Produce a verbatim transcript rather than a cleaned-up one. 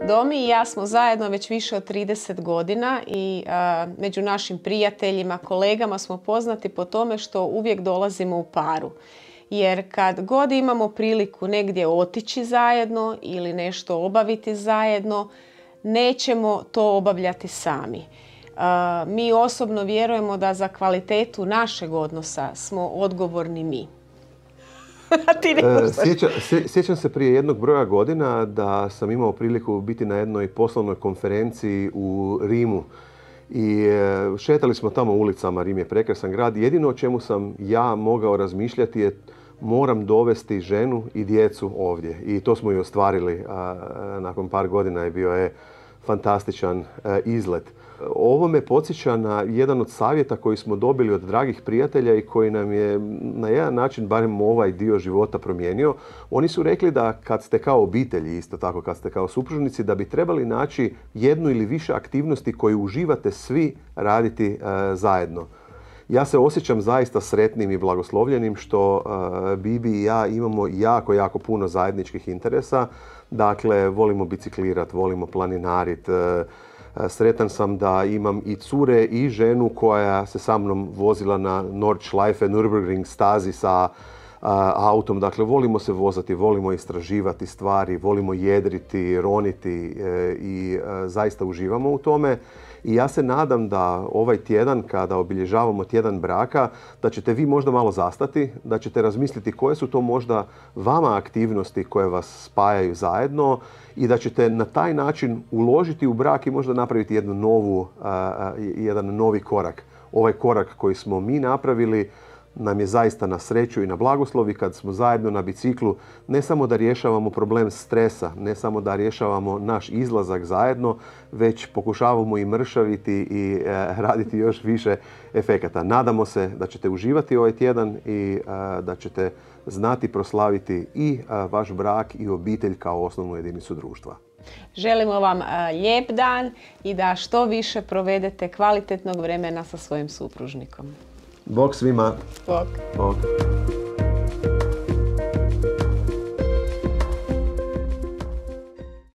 Domi i ja smo zajedno već više od trideset godina i a, među našim prijateljima, kolegama smo poznati po tome što uvijek dolazimo u paru. Jer kad god imamo priliku negdje otići zajedno ili nešto obaviti zajedno, nećemo to obavljati sami. A, mi osobno vjerujemo da za kvalitetu našeg odnosa smo odgovorni mi. Ti ne Sjeća, sjećam se prije jednog broja godina da sam imao priliku biti na jednoj poslovnoj konferenciji u Rimu i šetali smo tamo ulicama. Rim je prekrasan grad. Jedino o čemu sam ja mogao razmišljati je moram dovesti ženu i djecu ovdje. I to smo i ostvarili. Nakon par godina je bio je fantastičan izlet. Ovo me podsjeća na jedan od savjeta koji smo dobili od dragih prijatelja i koji nam je na jedan način barem ovaj dio života promijenio. Oni su rekli da kad ste kao obitelji, isto tako kad ste kao supružnici, da bi trebali naći jednu ili više aktivnosti koje uživate svi raditi e, zajedno. Ja se osjećam zaista sretnim i blagoslovljenim što e, Bibi i ja imamo jako, jako puno zajedničkih interesa. Dakle, volimo biciklirati, volimo planinariti. E, Sretan sam da imam i cure i ženu koja se sa mnom vozila na Nordschleife, Nürburgring stazi sa a, autom. Dakle, volimo se vozati, volimo istraživati stvari, volimo jedriti, roniti e, i e, zaista uživamo u tome. I ja se nadam da ovaj tjedan, kada obilježavamo tjedan braka, da ćete vi možda malo zastati, da ćete razmisliti koje su to možda vama aktivnosti koje vas spajaju zajedno i da ćete na taj način uložiti u brak i možda napraviti jednu novu, a, jedan novi korak. Ovaj korak koji smo mi napravili nam je zaista na sreću i na blagoslov i kad smo zajedno na biciklu ne samo da rješavamo problem stresa, ne samo da rješavamo naš izlazak zajedno, već pokušavamo i mršaviti i e, raditi još više efekata. Nadamo se da ćete uživati ovaj tjedan i e, da ćete znati proslaviti i e, vaš brak i obitelj kao osnovnu jedinicu društva. Želimo vam lijep dan i da što više provedete kvalitetnog vremena sa svojim supružnikom. Bog svima. Bog. Bog.